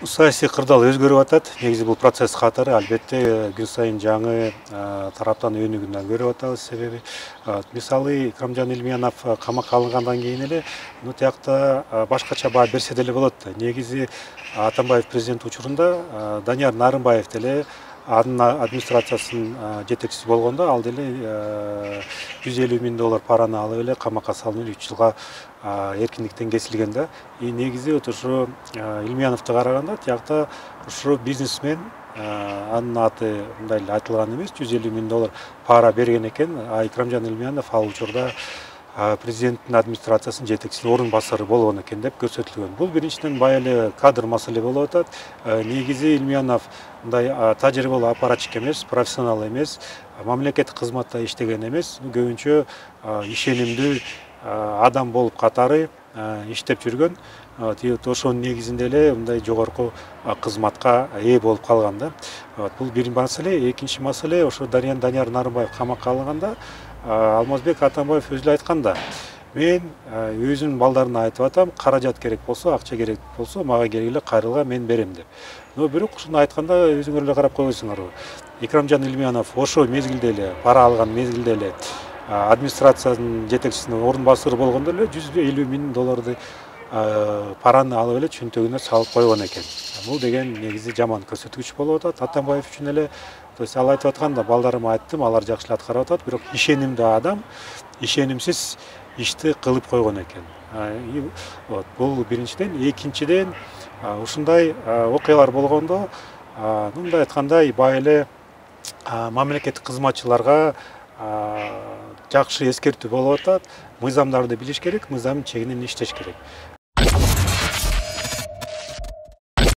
Саясий кырдаал өзгөрүп атат. Негизи бул процесс катары албетте күн сайын жаңы тараптан өнүгүүнөн көрүп атабыз. Себеби мисалы Икрамжан Илмиянов камакка алынгандан кийин эле тиякта башкача баа берсе деле болот да. Негизи Атамбаев президент учурунда Данияр Нарымбаев деле анын администрациясынын жетекчиси болгондо ал деле $150 000 параны алып эле камакка салынып 3 жылга эркиндиктен кесилген да. Негизи ошо Илмияновду караганда тиякта ушул бизнесмен анын аты мындай эле айтылган эмес, $150 000 пара берген экен. Икрамжан Илмиянов ал учурда президенттин администрациясынын жетекчисинин орун басары болгон экен деп көрсөтүлгөн. Бул биринчиден бая эле кадр маселе болуп атат. Негизи Илмиянов мындай тажрыйбалуу аппаратчик эмес, профессионал эмес, мамлекеттик кызматта иштеген эмес, көбүнчө ишенимдүү адам болуп катары иштеп жүргөн. Ошонун негизинде эле мындай жогорку кызматка ээ болуп калган да. Бул бир маселе. Экинчи маселе, ошо Данияр Нарымбаев камакка алынганда Алмазбек Атамбаев өзү эле айткан да. Мен өзүмдүн балдарыма айтып атам, каражат керек болсо, акча керек болсо мага келгиле, кайрылга, мен берем деп. Бирок ушуну айтканда өзүңөр эле карап койгойсуңарбы. Икрамжан Илмиянов ошо мезгилде эле, пара алган мезгилде эле администрациянын жетекчисинин орун басары болгондо эле $150 000 параны алып эле чөнтөгүнө салып койгон экен. Бул деген негизи жаман көрсөткүч болуп атат Атамбаев үчүн эле. То есть ал айтып атканда балдарыма айттым, алар жакшы эле аткарып атат, бирок ишенимдүү адам ишенимсиз ишти кылып койгон экен. Бул биринчиден. Экинчиден, ушундай окуялар болгондо, мындай айткандай, бая эле мамлекеттик кызматчыларга жакшы эскертүү болуп атат. Мыйзамдарды билиш керек, мыйзамдын чегинен иштеш керек.